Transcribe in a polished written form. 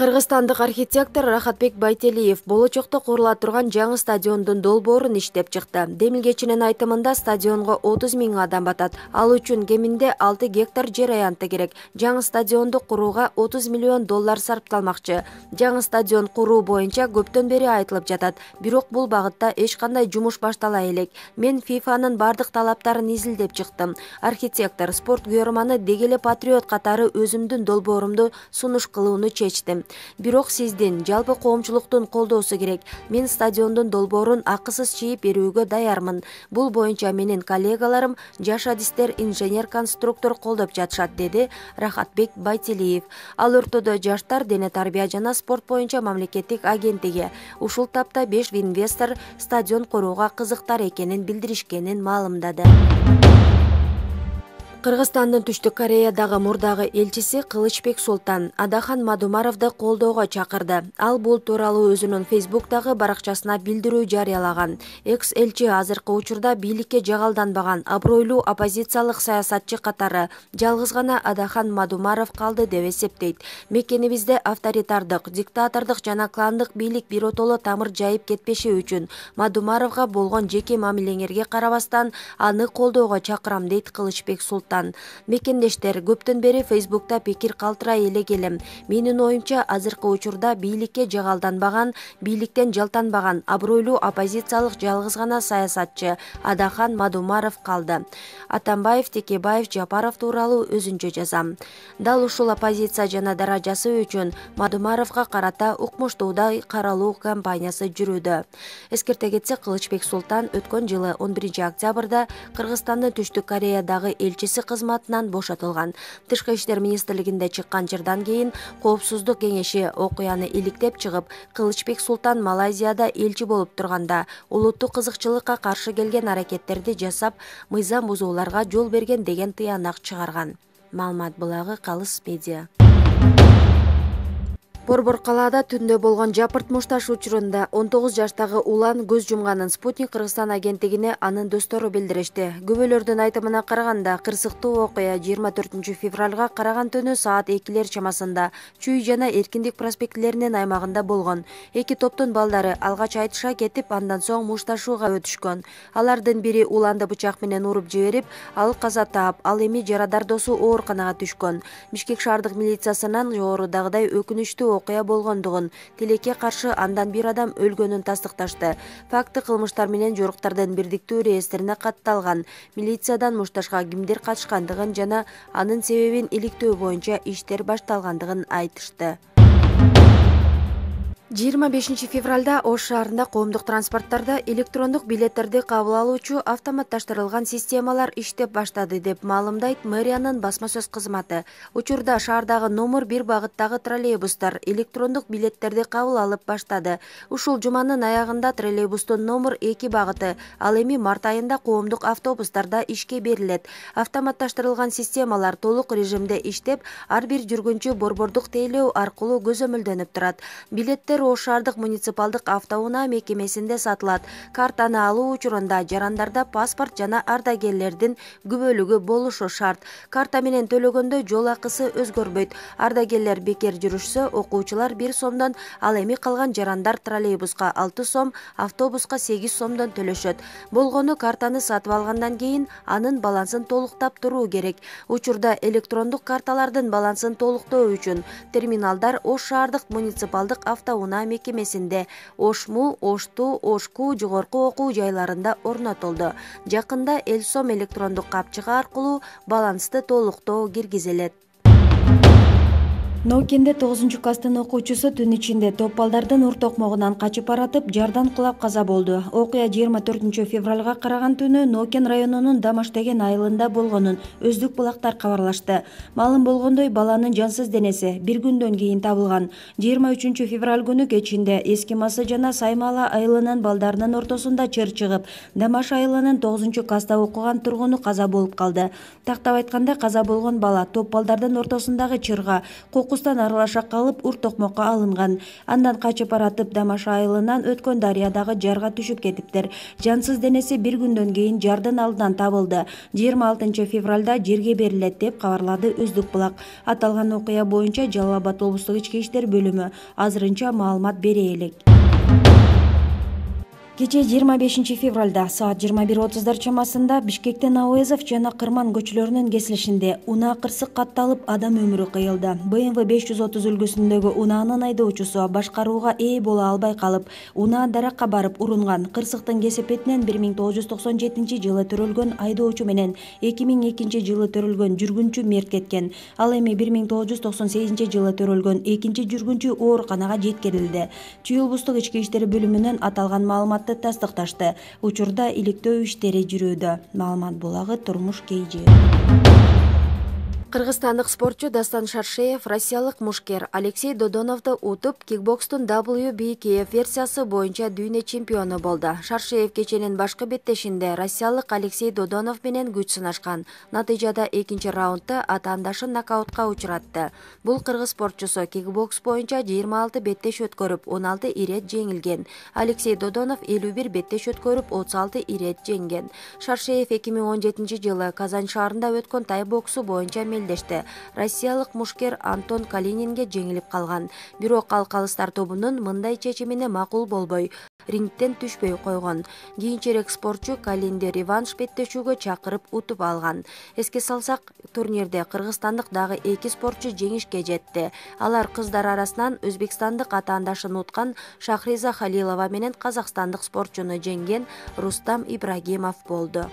Кыргызстандык архитектор Рахатбек Байтелиев болочокто курула турган жаңы стадиондун долбоорун иштеп чыкты. Демилгечинин айтымында стадионго 30 000 адам батат. Ал үчүн кеминде 6 гектар жер аянты керек. Жаңы стадионду курууга 30 миллион доллар сарпталмакчы. Жаңы стадион куруу боюнча көптөн бери айтылып жатат. Бирок бул багытта эч кандай жумуш баштала элек. Мен ФИФАнын бардык талаптарын изилдеп чыктым. Архитектор, спорт күйөрманы деги эле патриот катары өзүмдүн долбоорумду сунуш кылууну чечтим. Бирок сиздин, жалпы коомчулуктун колдоосу керек. Мен стадиондун долбоорун акысыз чийип берүүгө даярмын. Бул боюнча менин коллегаларым, жаш адистер, инженер-конструктор колдоп жатышат, деди Рахатбек Байтелиев. Ал ортодо Жаштар, дене тарбия жана спорт боюнча мамлекеттик агенттиги ушул тапта 5 инвестор стадион курууга кызыктар экенин билдиришкенин маалымдады. Кыргызстандын Түштүк Кореядагы мурдагы элчиси Кылычбек Султан Адахан Мадумаровду колдоого чакырды. Ал бул тууралуу өзүнүн Фейсбуктагы баракчасына билдирүү жарыялаган. Экс-элчи азыркы учурда бийликке жагалданбаган абройлуу оппозициялык саясатчы катары жалгыз гана Адахан Мадумаров калды деп эсептейт. Мекенибизде авторитардык, диктатордук жана кландык бийлик биротоло тамыр жайып кетпеши үчүн Мадумаровго болгон жеке мамилеңерге карабастан аны колдоого чакырам, дейт Кылычбек Султан. Мекендештер, көптөн бери Фейсбукта пикир калтырай элек элем. Менин оюмча, азыркы учурда бийликке жагалданбаган, бийликтен жалтанбаган абройлуу оппозициялык жалгыз гана саясатчы Адахан Мадумаров калды. Атамбаев, Текебаев, Жапаров тууралуу өзүнчө жазам. Дал ушул оппозиция жана даражасы үчүн Мадумаровго карата укмуштуудай каралуу кампаниясы жүрүүдө. Эскерте кетсек, Кылычбек Султан өткөн жылы 11 октябрда Кыргызстандын Түштүк Кореядагы элчиси кызматынан бошотулган. Тышкы иштер министрлигинде чыккан жырдан кийин Коопсуздук кеңеши окуяны иликтеп чыгып, Кылычбек Султан Малайзияда элчи болуп турганда улуттук кызыкчылыкка каршы келген аракеттерди жасап, мыйзам бузууларга жол берген деген тыянак чыгарган. Маалымат булагы Калыс медиа. Борбор калаада түндө болгон жапырт мушташ учурунда 19 жаштагы улан көз жумганын Спутник Кыргызстан агенттигине анын достору билдиришти. Күбөлөрдүн айтымына караганда, кырсыктуу окуя 24 февралга караган түнү саат 2 чамасында Чүй жана Эркиндик проспектилеринин аймагында болгон. Эки топтун балдары алгач айтыша кетип, андан соң мушташууга өтүшкөн. Алардын бири уланды бычак менен уруп жиберип, ал каза таап, ал эми жарадар досу ооруканага түшкөн. Бишкек шаардык милициясынан жогорудагыдай өкүнүчтүү окуя болгондугун, тилекке каршы андан бир адам өлгөнүн тастыкташты. Факты кылмыштар менен жоруктардын бирдиктүү реестрине катталган. Милициядан мушташка кимдер катышкандыгын жана анын себебин иликтөө боюнча иштер башталгандыгын айтышты. 25 февралда Ош шаарында коомдук транспорттарда электрондук билеттерди кабыл алуучу автоматташтырылган системалар иштеп баштады деп маалымдайт мэриянын басма сөз кызматы. Учурда шаардагы номер 1 багыттагы троллейбустар электрондук билеттерди кабыл алып баштады. Ушул жуманын аягында троллейбустун номер 2 багыты, ал эми март айында коомдук автобустарда ишке берилет. Автоматташтырылган системалар толук режимде иштеп, ар бир жүргүнчү борбордук тейлөө аркылуу көзөмөлдөнүп турат. Билеттер Ош шаардык муниципалдык автоунаа мекемесинде сатылат. Картаны алуу учурунда жарандарда паспорт жана ардагерлердин күбөлүгү болушу шарт. Карта менен төлөгөндө жол акысы өзгөрбөйт. Ардагерлер бекер жүрүшсө, окуучулар 1 сомдон, ал эми калган жарандар троллейбуска 6 сом, автобуска 8 сомдон төлөшөт. Болгону картаны сатып алгандан кийин анын балансын толуктап туруу керек. Учурда электрондук карталардын балансын толуктоо үчүн терминалдар Ош шаардык муниципалдык автоунаа мекемесинде, Ошму, Ошту, Ошку жогорку окуу жайларында орнотулду. Жакында Элсом электрондук капчыгы аркылуу балансты толуктоо киргизилет. Ноокенде 9-класстын окуучусу түн ичинде топ балдардын ур токмогунан качып баратып, жардан кулап каза болду. Окуя 24 февралга караган түнү Ноокен районунун Дамаш деген айылында болгонун Өздүк булактар кабарлашты. Маалым болгондой, баланын жансыз денеси бир күндөн кийин табылган. 23 февраль күнү кечинде Эски Масы жана Саймала айылынын балдарынын ортосунда чыр чыгып, Дамаш айылынын 9-класста окуган тургуну каза болуп калды. Тактап айтканда, каза болгон бала топ балдардын ортосундагы чырга окустан аралаша калып ур токмокко алынган. Андан качып баратып Дамаша айылынан өткөн дарыядагы жарга түшүп кетиптир. Жансыз денеси бир күндөн кийин жардын алдынан табылды. 26 февралда жерге берилет деп кабарлады Өздүк Булак. Аталган окуя боюнча Жалал Абад облустук ички иштер бөлүмү азырынча маалымат бере элек. Кечээ 25 февралда саат 21:30 чамасында Бишкектин Ауэзов жана Кырман көчөлөрүнүн кесилишинде унаа кырсык катталып, адам өмүрү кыйылды. BMW 530 үлгүсүндөгү унаанын айдоочусу башкарууга ээ боло албай калып, унаа даракка барып урунган. Кырсыктын кесепетинен 1997 жылы төрөлгөн айдоочу менен 2002 жылы төрөлгөн жүргүнчү мерт кеткен. Ал эми 1998 жылы төрөлгөн экинчи жүргүнчү ооруканага жеткирилди. Чүй облустук ички иштер бөлүмүнөн аталган маалыматты тастыкташты. Учурда иликтөө иштери жүрүүдө. Маалымат булагы Турмуш KG. Кыргызстандык спортчу Дастан Шаршеев россиялык мушкер Алексей Додоновду утуп, кикбокстун WBKF версиясы боюнча дүйнө чемпиону болду. Шаршеев кеченин башкы беттешинде россиялык Алексей Додонов менен күч сынашкан. Натыйжада экинчи раундда атаандашын нокаутка учуратты. Бул кыргыз спортчусу кикбокс боюнча 26 беттеш өткөрүп, 16 ирет жеңилген. Алексей Додонов 51 беттеш өткөрүп, 36 ирет жеңген. Шаршеев 2017 жылы Казань шаарында өткөн тай боксу боюнча Россиялык мушкер Антон Калининге жеңилип калган. Бирок ал калыстар тобунун мындай чечимине макул болбой, рингден түшпөй койгон. Кийинчерээк спортчу Калинди реванш беттешүүгө чакырып утуп алган. Эске салсак, турнирде кыргызстандык дагы 2 спортчу жеңишке жетти. Алар кыздар арасынан өзбекстандык атаандашын уткан Шахриза Халилова менен казакстандык спортчуну жеңген Рустам Ибрагимов болду.